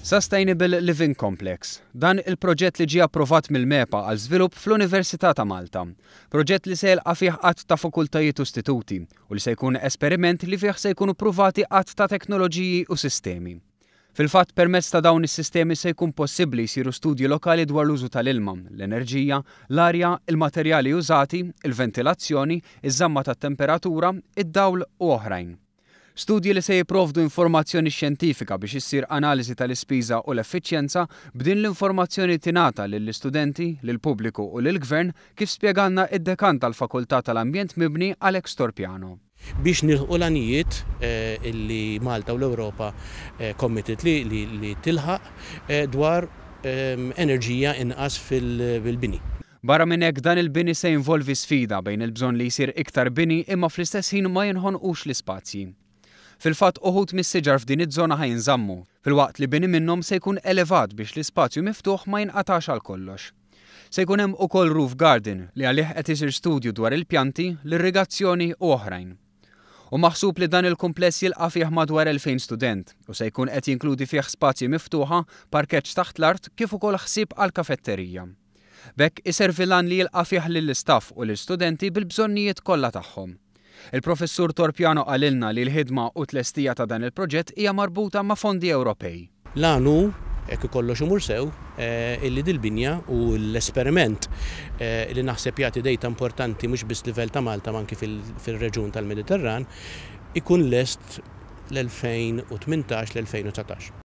Sustainable Living Complex. Dan il-proġett li ġie approvat mill-MEPA għal żvilupp fl-Università ta' Malta. Proġett li se jilqa' fih għadd ta' fakultajiet u istituti u li se jkun esperiment li fih se jkunu pruvati għadd ta' teknoloġiji u sistemi. Fil-fatt, permezz ta' dawn is-sistemi se jkun possibbli jsiru studji lokali dwar l-użu tal-ilma, l-enerġija, l-arja, il-materjali użati, il-ventilazzjoni, iż-żamma tat-temperatura, id-dawl u oħrajn. Studji li se jipprovdu informazzjoni xjentifika biex issir analiżi tal-ispiża u l-effiċjenza, b'din l-informazzjoni tingħata lill-istudenti, lill-pubbliku u lill-Gvern, kif spjegalna id-Dekan tal-Fakultà tal-Ambjent Mibni Alex Torpiano. Biex nilħqu l-għanijiet li Malta u l-Ewropa committed li tilħaq dwar enerġija inqas fil-bini. Barra minn hekk, dan il-bini se jinvolvi sfida bejn il-bżonn li jsir iktar bini imma fl-istess ħin ma jinħonqux l-ispazji. Fil-fatt, uħud mis-siġar f'din iż-żona ħa jinżammu, filwaqt li bini minnhom se jkun elevat biex l-ispazju miftuħ ma jinqatax għal kollox. Se jkun hemm ukoll roof garden li għalih qed isir studju dwar il-pjanti, l-irrigazzjoni u oħrajn. U maħsub li dan il-kumpless jilqa' fih madwar 2000 student u se jkun qed jinkludi fih spazji miftuħa, parkeġġ taħt l-art kif ukoll ħsieb għal kafetterija. B'hekk iservi l-għan li jilqa' fih lill-istaff u lill-studenti bil-bżonnijiet kollha tagħhom. Il-Professur Torpiano qalilna li l-ħidma u tlestija ta' dan il-proġett hija marbuta ma' fondi Ewropej. L-għan hu, jekk kollox imur sew, illi dil-binja u l-esperiment li naħseb jagħti data importanti mhux biss livell ta' Malta ma anki fil-reġjun tal-Mediterran, ikun lest l-2018 l-2019.